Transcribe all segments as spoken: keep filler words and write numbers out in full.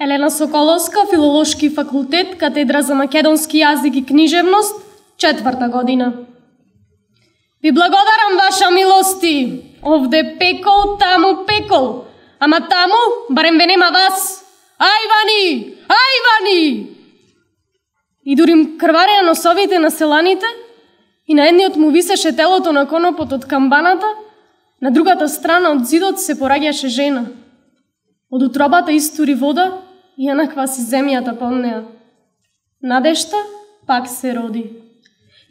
Елена Соколовска, Филолошки факултет, катедра за македонски јазик и книжевност, четврта година. Ви благодарам, ваша милости. Овде пекол, таму пекол. Ама таму, барем ве нема вас. Ајвани! Ајвани! И дурим крвареа носовите на селаните, и на едниот му висеше телото на конопот од камбаната, на другата страна од зидот се пораѓаше жена. Од утробата истури вода и ја накваси земјата под неа. Надежта пак се роди.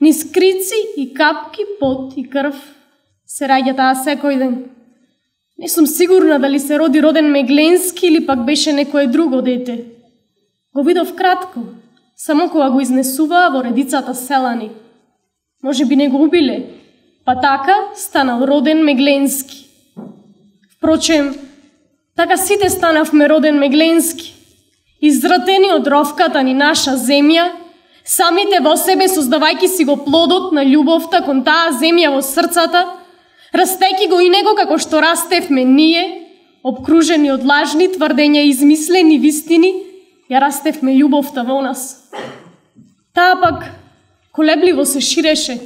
Низ крици и капки, пот и крв се раѓа таа секој ден. Не сум сигурна дали се роди Роден Мегленски или пак беше некое друго дете. Го видов кратко, само кога го изнесуваа во редицата селани. Може би не го убиле, па така станал Роден Мегленски. Впрочем, така сите станавме Роден Мегленски, изратени од ровката ни наша земја, самите во себе создавајки си го плодот на љубовта кон таа земја во срцата, растејќи го и него како што растевме ние, обкружени од лажни тврдења и измислени вистини, ја растевме љубовта во нас. Таа пак колебливо се ширеше.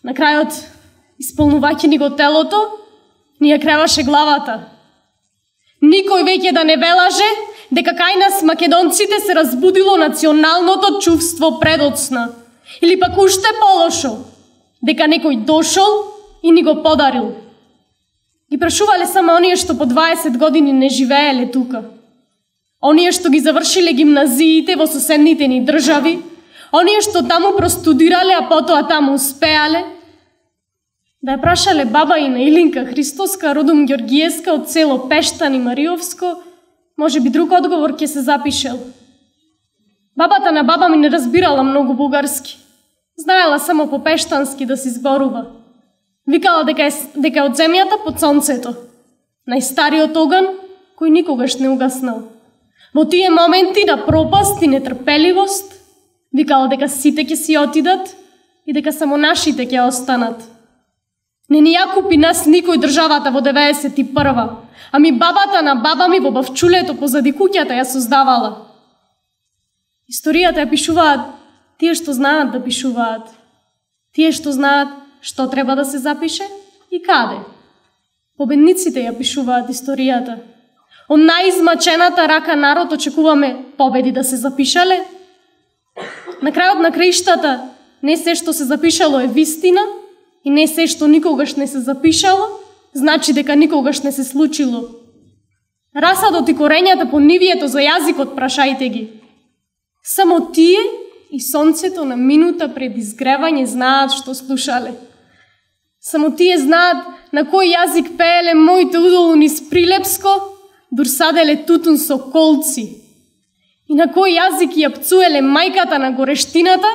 На крајот, исполнувајќи ни го телото, ни ја креваше главата. Никој веќе да не велаже дека кај нас македонците се разбудило националното чувство предоцна. Или пак уште полошо, дека некој дошол и ни го подарил. Ги прашувале само оние што по дваесет години не живееле тука. Оние што ги завршиле гимназиите во соседните ни држави, оние што таму простудирале, а потоа таму успеале. Да ја прашале баба и на Илинка Христоска, родом Ѓоргиевска од село Пештан и Мариовско, може би друг одговор ќе се запишел. Бабата на баба ми не разбирала многу бугарски. Знаела само по пештански да се зборува. Викала дека е, дека е од земјата под сонцето. Најстариот оган кој никогаш не угаснал. Во тие моменти на пропаст и нетрпеливост, викала дека сите ќе си отидат и дека само нашите ќе останат. Не ни ја купи нас никој државата во деветдесет и прва, ами бабата на баба ми во бавчулето позади куќата ја создавала. Историјата ја пишуваат тие што знаат да пишуваат. Тие што знаат што треба да се запише и каде. Победниците ја пишуваат историјата. Од најизмачената рака народ очекуваме победи да се запишале. На крајот на краиштата не се што се запишало е вистина и не се што никогаш не се запишало, значи дека никогаш не се случило. Расадот и корењата по нивието за јазикот прашајте ги. Само тие и сонцето на минута пред изгревање знаат што слушале. Само тие знаат на кој јазик пееле моите удолу низ Прилепско, дур саделе тутун со колци. И на кој јазик ја пцуеле мајката на горештината,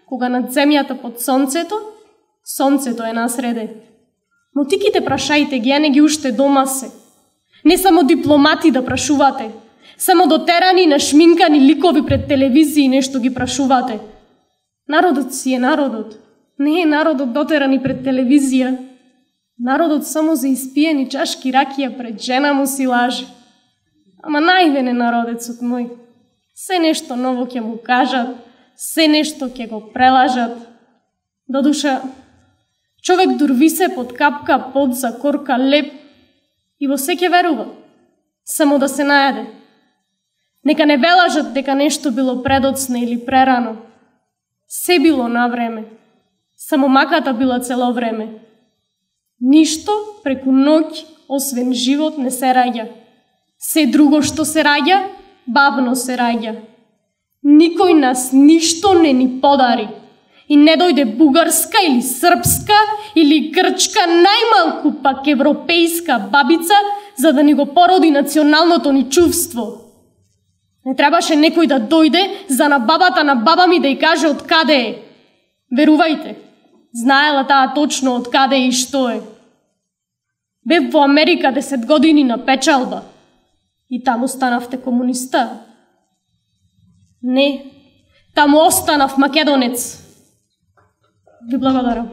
кога над земјата под сонцето, сонцето е насреде. Мотиките прашајте ги, а не ги уште дома се. Не само дипломати да прашувате, само дотерани на шминкани ликови пред телевизии нешто ги прашувате. Народот си е народот. Не е народот дотерани пред телевизија. Народот само за испиени чашки ракија пред жена му си лаже. Ама највен е народецот мој. Се нешто ново ќе му кажат, се нешто ќе го прелажат. Додуша, човек дур висе под капка пот за корка леп и во се ќе верува, само да се најаде. Нека не велажат дека нешто било предоцна или прерано. Се било на време, само маката била цело време. Ништо преку ноќ, освен живот, не се раѓа. Се друго што се раѓа, бавно се раѓа. Никој нас ништо не ни подари. И не дојде бугарска или српска или грчка, најмалку пак европејска бабица, за да ни го породи националното ни чувство. Не требаше некој да дојде за на бабата на баба ми да ја каже од каде е. Верувајте, знаела таа точно од каде е и што е. Бев во Америка десет години на печалба и таму станавте комуниста. Не, таму останав македонец. Ви благодарам.